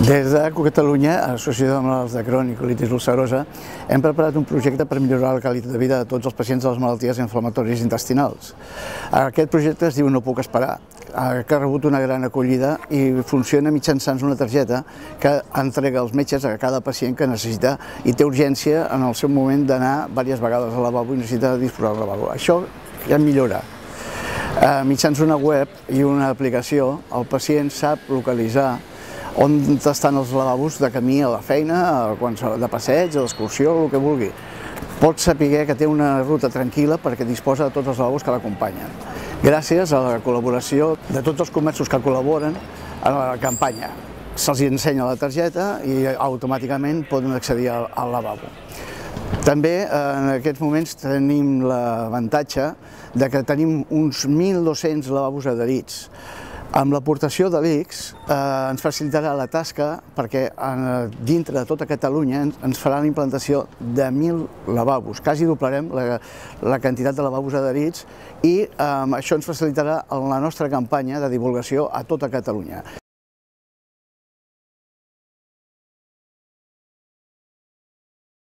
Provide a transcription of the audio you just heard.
Des de Catalunya, associada amb els de Crohn i colitis ulcerosa, hem preparat un projecte per millorar la qualitat de vida de tots els pacients de les malalties inflamatòries intestinals. Aquest projecte es diu No puc esperar, que ha rebut una gran acollida i funciona mitjançant una targeta que entrega els metges a cada pacient que necessita i té urgència en el seu moment d'anar diverses vegades al lavabo i necessita disposar del lavabo. Això ja millora. Mitjançant una web i una aplicació, el pacient sap localitzar on estan els lavabos de camí a la feina, de passeig, d'excursió, el que vulgui. Pot saber que té una ruta tranquil·la perquè disposa de tots els lavabos que l'acompanyen. Gràcies a la col·laboració de tots els comerços que col·laboren a la campanya. Se'ls ensenya la targeta i automàticament poden accedir al lavabo. També en aquests moments tenim l'avantatge que tenim uns 1.200 lavabos adherits. Amb l'aportació de l'ICS ens facilitarà la tasca perquè dintre de tota Catalunya ens farà la implantació de 1.000 lavabos. Quasi doblarem la quantitat de lavabos adherits i això ens facilitarà la nostra campanya de divulgació a tota Catalunya.